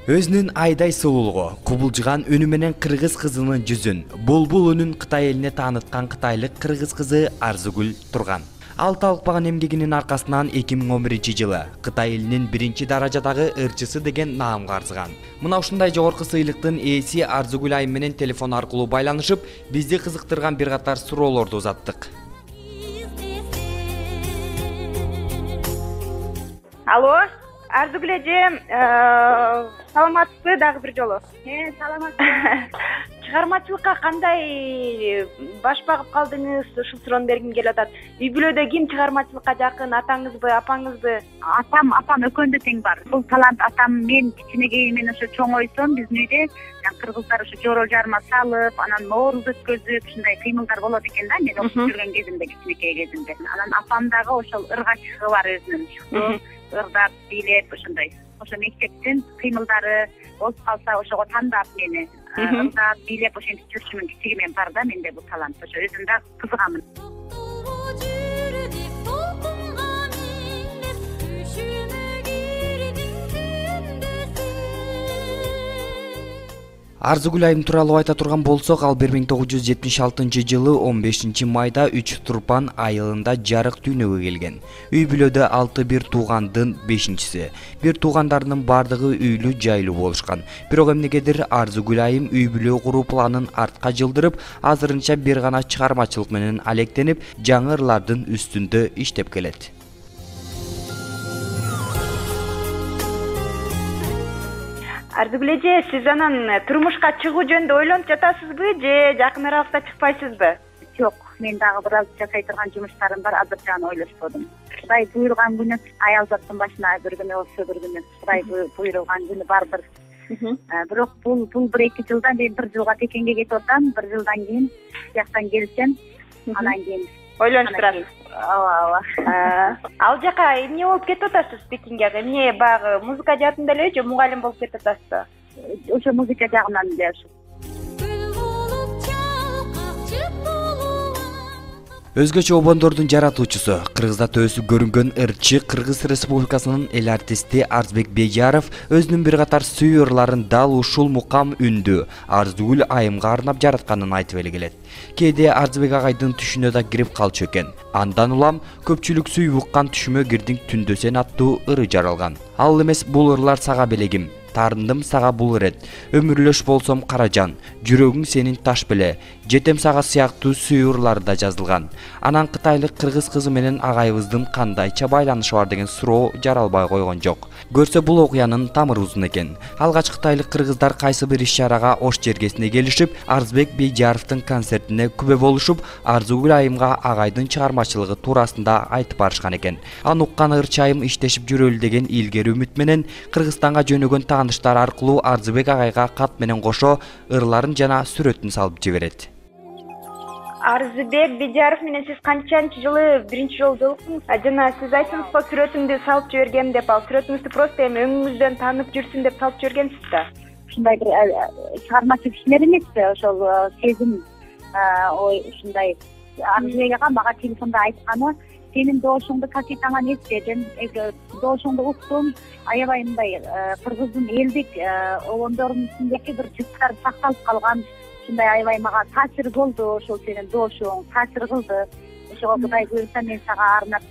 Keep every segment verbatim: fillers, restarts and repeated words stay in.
Өзүнүн айдай сулуулугу, кубулжуган үнү менен кыргыз кызынын жүзүн булбул үнүн Кытай элине тааныткан кытайлык кыргыз кызы Арзыгүл Турган. Алты алыкпаган эмгегинин аркасынан эки миң он биринчи жылы Кытай элинин биринчи даражадагы ырчысы деген наамга арзыган. Мына ушундай жогорку сыйлыктын ээси Арзыгүл айым менен телефон аркылуу байланышып, бизди кызыктырган бир катар суроолорду узаттык. Алло, Арзыгүл эже, саламатсызбы дагы бир жолу? Э, саламатсызбы. Чыгармачылыкка кандай баш багып калдыңыз? Ушул суроону бергим келип атат. Үй бүлөдө ким чыгармачылыкка жакын? Атаңызбы, апаңызбы? Атам, апам экөөндө тең бар. Бул талант атам мен кичинегейимен ошо чоңойсом биздин үйдө кыргыздар ошо жоро жарма салып, анан нооруз өткөзүп, ушундай кыймылдар болот экен да, мен окуп жүргөн кезимде, кичинекей кезимде. Анан апам дагы ошол ыргачкы бар өзүнүн. Ырдап, бийлеп ошондой. Ошо мектептин кыймылдары болуп калса ошого тандап мени ырдап, бийлеп ошентип жүрчүмүн. Кичигимен бар да менде бул талант. Ошо өзүм да кызыгамын. Арзыгүл айым тууралуу айта турган болсок, ал бир миң тогуз жүз жетимиш алтынчы жылы он бешинчи майда үч Турпан айылында жарык дүйнөгө келген. Үй бүлөдө алты бир туугандын бешинчиси. Бир туугандарынын бардыгы үйлүү жайлуу болушкан. Бирок эмнегедир Арзыгүл айым үй бүлө куруу планын артка жылдырып, азырынча бир гана чыгармачылык менен алектенип, жаңы ырлардын үстүндө иштеп келет. Арзыгүл эже, сиз анан турмушка чыгуу жөнүндө ойлонуп жатасызбы же жакын аралыкта чыкпайсызбы? Жок, мен дагы бир аз жасай турган жумуштарым бар, азырча аны ойлошподум. Кудай буйруган күнү аялзаттын башына бир күнү болсо бир күнү Кудай буйруган күнү барбыр. Бирок бул бул бир эки жылдан мен бир жылга Пекинге кетип атам, бир жылдан кийин жактан келсем, анан кийин ойлонуп турасыз. Ооба, ооба. Ал жака эмне болуп кетип атасыз Пекинге? Эмне баягы музыка жаатында эле же мугалим болуп кетип атасызбы? Ошо музыка жагынан эле ошо. Өзгөчө обондордун жаратуучусу, Кыргызда төсүп көрүнгөн ырчы Кыргыз Республикасынын эл артисти Арзбек Бейжаров өзүнүн бир катар сүйүү ырларын дал ушул мукам үндүү Арзыгүл айымга арнап жаратканын айтып эле келет. Кээде Арзбек агайдын түшүнө да кирип калчу экен. Андан улам көпчүлүк сүйүп уккан Түшүмө кирдиң түндө сен аттуу ыры жаралган. Ал эмес бул ырлар сага белегим. Тарындым сага бул ирет, өмүрлөш болсом каражан, жүрөгүң сенин таш беле, жетем сага сыяктуу сүйүү ырлары да жазылган. Анан кытайлык кыргыз кызы менен агайыбыздын кандайча байланышы бар деген суроо жаралбай койгон жок. Көрсө бул окуянын тамыры узун экен. Алгач кытайлык кыргыздар кайсы бир иш-чарага Ош жергесине келишип, Арзбек Бейжаровдун концертине күбө болушуп, Арзыгүл айымга агайдын чыгармачылыгы туурасында айтып барышкан экен. Аны уккан ырчы айым иштешип жүрөлү деген илгери үмүт менен Кыргызстанга жөнөгөн тааныштар аркылуу Арзыбек агайга кат менен кошо ырларын жана сүрөтүн салып жиберет. Арзыбек Бейжаров менен сиз канчанчы жылы биринчи жолу жолуктуңуз? Жана сиз айттыңызбы, сүрөтүмдү салып жибергем деп, ал сүрөтүңүздү просто эми өңүңүздөн таанып жүрсүн деп салып жибергенсиз да. Ушундай бир чыгармачылык иштер эмеспи, ошол сезим, ой ушундай. Арзыбек ага мага телефондо айтканы, сенин доошуңду капитаңан эстедим, доошуңду уктум, аябай мындай кыргыздын элдик обондорунун ичиндеги бир жыттар сакталып калган, ушундай аябай мага таасир болду, ошол сенин доошуң таасир кылды. Ошого Кудай буйруса мен сага арнап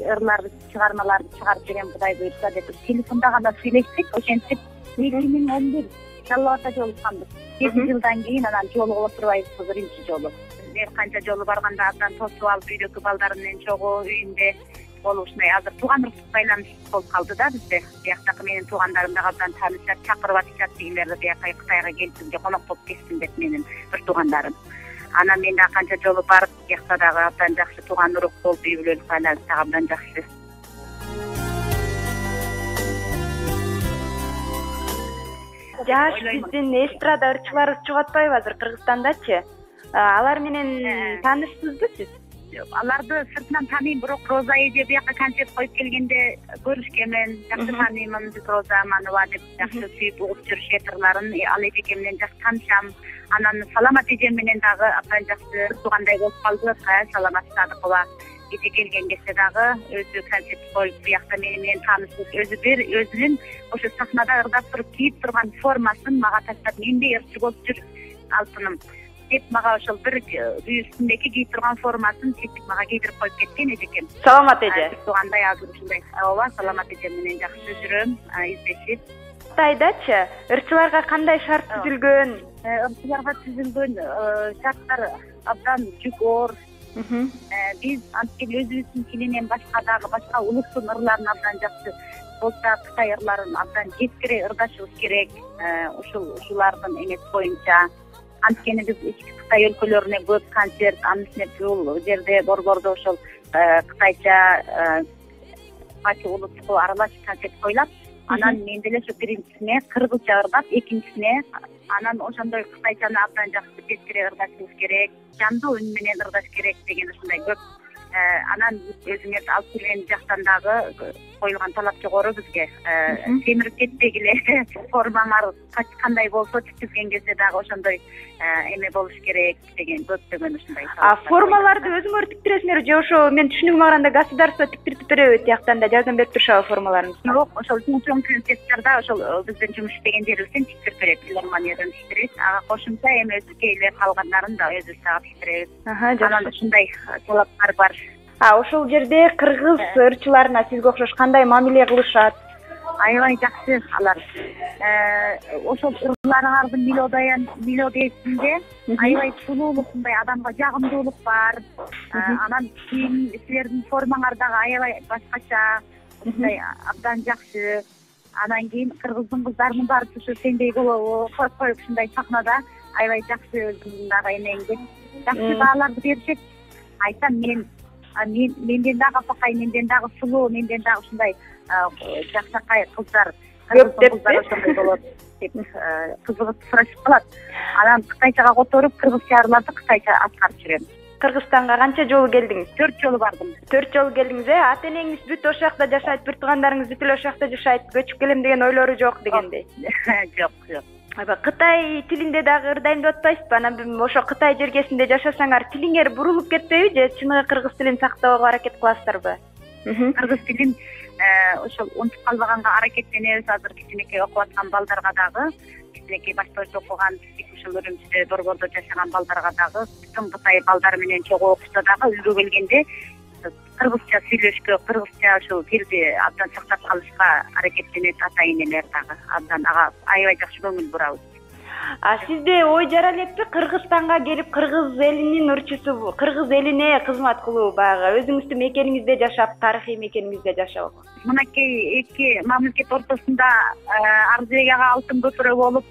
ырларды, чыгармаларды чыгарып берем, Кудай буйруса деп телефондо гана сүйлөштүк. Ошентип эки миң он бир Жалал Абадда жолукканбыз. Жети жылдан кийин анан жолугуп отурбайбыз биринчи жолу. Бир канча жолу барганда абдан тосуп алып, үйдөгү балдарым менен чогуу үйүндө болуп ушундай азыр тууган уруктук байланыш болуп калды да бизде. Бияктагы менин туугандарым дагы абдан таанышат, чакырып атышат дегилерди, бияка Кытайга келсин же конок болуп кетсин деп менин бир туугандарым. Анан мен дагы канча жолу барып, биякта дагы абдан жакшы тууган урук болуп, үй бүлөлүк байланыш дагы абдан жакшы. Жаш биздин эстрада ырчылары чыгып атпайбы азыр Кыргызстандачы? Алар менен таанышсызбы сиз? Аларды сыртынан тааныйм, бирок Роза эже бияка концерт коюп келгенде көрүшкөнмүн, жакшы тааныймын, Роза Аманова деп жакшы сүйүп угуп жүрүшөт ырларын. Ал эжеке менен жакшы таанышам. Анан Саламат эжем менен дагы абдан жакшы туугандай болуп калдык. Саламат Садыкова кете келген кезде дагы өзү концерт коюп биякта мени менен таанышып өзү бир өзүнүн ошо сахнада ырдап туруп кийип турган формасын мага таштап мендей ырчы болуп жүр алтыным деп мага ошол бир үй үстүндөгү кийип турган формасын чечип мага кийдирип коюп кеткен эжекем. Саламат эже. Туугандай азыр ушундай. Ооба, саламат эжем менен жакшы жүрөм, издешип. Кытайдачы ырчыларга кандай шарт түзүлгөн? Ырчыларга түзүлгөн шарттар абдан жүк оор. Биз анткени өзүбүздүн тилинен башка дагы башка улуттун ырларын абдан жакшы болсо Кытай ырларын абдан жеткире ырдашыбыз керек. Ушул ушулардын эмеси боюнча анткени биз ички Кытай өлкөлөрүнө көп концерт, анын үстүнө бул жерде борбордо ошол кытайча кайсы улуттук аралаш концерт коюлат. Анан мен деле ошо биринчисине кыргызча ырдап, экинчисине анан ошондой кытайчаны абдан жакшы жеткире ырдашыбыз керек, жандуу үн менен ырдаш керек деген ушундай көп. Анан өзүңөр алып келген жактан дагы коюлган талап жогору бизге. Темирип кетпегиле, формаңар кандай болсо тиктирген кезде дагы ошондой эме болуш керек деген көптөгөн ушундай. А формаларды өзүңөр тиктиресиңер же ошо мен түшүнүгүмө караганда государство тиктирип береби тияктан да жардам берип турушабы формаларыңызды? Жок, ошол чоң концерттерде ошол биздин жумуш иштеген жерибизден тиктирип берет, филармониядан тиктирет. Ага кошумча эми өзүбүзгө эле калгандарын да өзүбүз ага тиктиребиз. Анан ушундай талаптар бар. А ошол жерде кыргыз ырчыларына сизге окшош кандай мамиле кылышат? Аябай жакшы алар. Ошол ырларыңардын мелодиясында аябай сулуулук, мындай адамга жагымдуулук бар. Анан кийин силердин формаңар дагы аябай башкача, мындай абдан жакшы. Анан кийин кыргыздын кыздарынын баары ушу сендей болобу, коюп коюп ушундай сахнада аябай жакшы өзүңдүн дагы эмеңди. Жакшы бааларды беришет. Айтсам мен мен менден дагы апакай, менден дагы сулуу, менден дагы ушундай жакшакай кыздар, кыргыздын кыздары ошондой болот деп кызыгып сурашып калат. Анан кытайчага которуп, кыргызча ырларды кытайча аткарып жүрөм. Кыргызстанга канча жолу келдиңиз? Төрт жолу бардым. Төрт жолу келдиңиз, э? Ата энеңиз бүт ошол жакта жашайт, бир туугандарыңыз бүт эле ошол жакта жашайт, көчүп келем деген ойлору жок дегендей. Жок, жок. Аба Кытай тилинде дагы ырдайм деп атпайсызбы? Анан ошо Кытай жергесинде жашасаңар тилиңер бурулуп кетпейби же чыныгы кыргыз тилин сактоого аракет кыласыздарбы? Кыргыз тилин ошол унутуп калбаганга аракеттенебиз. Азыр кичинекей окуп аткан балдарга дагы, кичинекей баштоочу окуган, ушул Үрүмчүдө борбордо жашаган балдарга дагы, бүтүн Кытай балдары менен чогуу окушса дагы үйгө келгенде кыргызча сүйлөшкө, кыргызча ошол тилди абдан сактап калышка аракеттенет ата энелер дагы. Абдан ага аябай жакшы көңүл бурабыз. А сизде ой жара элекпи Кыргызстанга келип кыргыз элинин ырчысы, кыргыз элине кызмат кылуу, баягы өзүңүздүн мекениңизде жашап, тарыхый мекениңизде жашап? Мынакей эки мамлекет ортосунда Арзыбек ага алтын көпүрө болуп,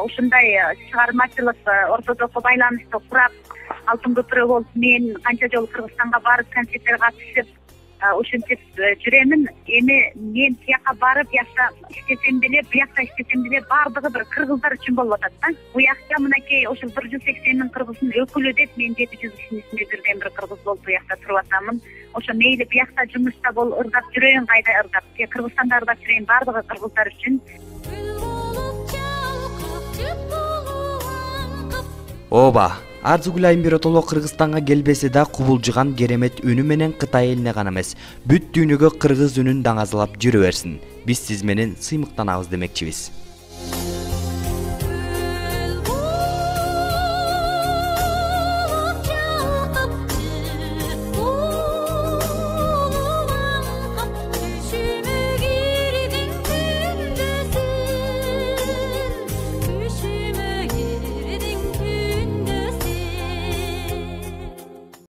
ушундай чыгармачылык ортодогу байланышты курап, алтын көпүрө болуп мен канча жолу Кыргызстанга барып концерттерге катышып, ушинтип жүремин. Эми мен тияка барып, бияка иштесем деле, бияка иштесем деле баардыгы бир кыргыздар үчүн болуп атат да. Буякта мынакей ошол бир жүз сексен миң кыргыздын өкүлү деп мен жети жүз кишинин ичинде бирден бир кыргыз болуп буякта туруп атамын. Ошо мейли буякта жумушта бол ырдап жүрөйүн, кайда ырдап, Кыргызстанда ырдап жүрөйүн, баардыгы кыргыздар үчүн. Ооба, Арзыгүл Айымберотоло Кыргызстанга келбесе да кубулжуган керемет үнү менен Кытай элине гана эмес, бүт дүйнөгө кыргыз үнүн даңазалап жүрө берсин. Биз сиз менен сыймыктанабыз демекчибиз.